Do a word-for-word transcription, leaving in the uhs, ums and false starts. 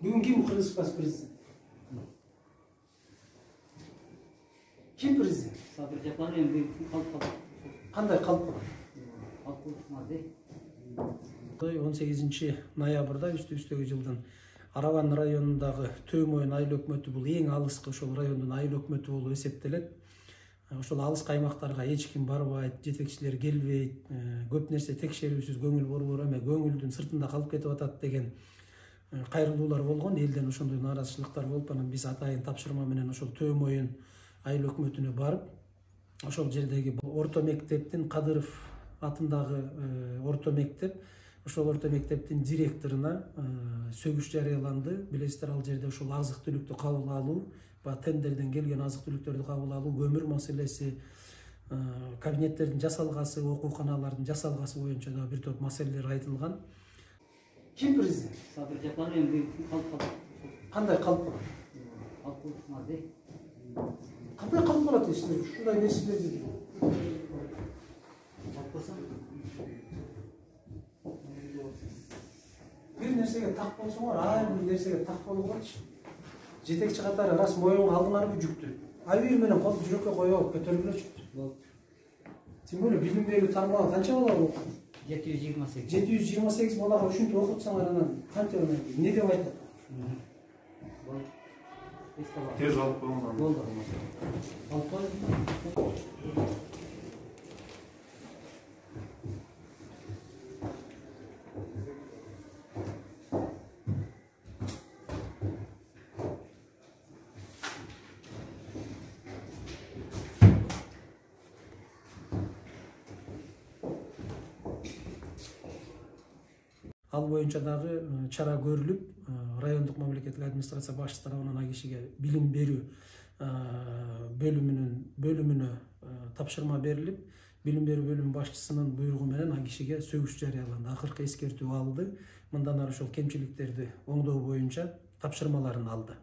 Бүгүн ким Кыргызстан президент? Ким президент? Сабыр Жапаров эми калып калды. Кандай калып калды? он сегизинчи ноябрда үстү-үстөгү жылдын Араван районундагы Төөмойын айыл өкмөтү бул эң алыскы ошол райондун айыл өкмөтү болуп эсептелет. Ошол алыс каймактарга эч ким барбайт, жетекчилер келбейт, көп нерсе текшерүүсүз көңүл борбор эме көңүлдүн сыртында калып кетип атат деген кайрылуулар болгон. Элден ошондой нааразычылыктар болуп, анан биз атайын тапшырма менен ошол Төөмойын айыл өкмөтүнө барып, ошол жердеги орто мектептин Кадыров атындагы орто мектеп, ошол орто мектептин директоруна сөгүш жарыяланды. Билесиздер, ал жерде ошол азык түлүктү кабыл алуу, баягы тендерден келген азык түлүктөрдү кабыл алуу, көмүр маселеси, кабинеттердин жасалгасы, окууканалардын жасалгасы боюнча да бир топ маселелер айтылган. Ким президент? Сабыр Жапаров эми калып калды. Кандай калып калат? Калып калды. Кандай калып калат дейсиздер? Ушундай нерселерди бир нерсеге так болсоңор, ар бир нерсеге так болуңорчу. Жетекчи катары рас моюнга алдыңарбы жүктү? Айбир менен колду жүрөккө коюп алып көтөрүлөчү. Тем более билим берүү тармагы канча бала окуйт? жети жүз жыйырма сегиз. жети жүз жыйырма сегиз балага ушинтип окутсаңар, анан канча эмне деп айтат? Тез алып коюңар. Болду. Алып кой. Ал боюнча дагы чара көрүлүп, райондук мамлекеттик администрация башчысы тарабынан ал кишиге билим берүү бөлүмүнүн бөлүмүнө тапшырма берилип, билим берүү бөлүмүнүн башчысынын буйругу менен ал кишиге сөгүш жарыяланды. Акыркы эскертүү алды. Мындан ары ошол кемчиликтерди оңдоо боюнча тапшырмаларын алды.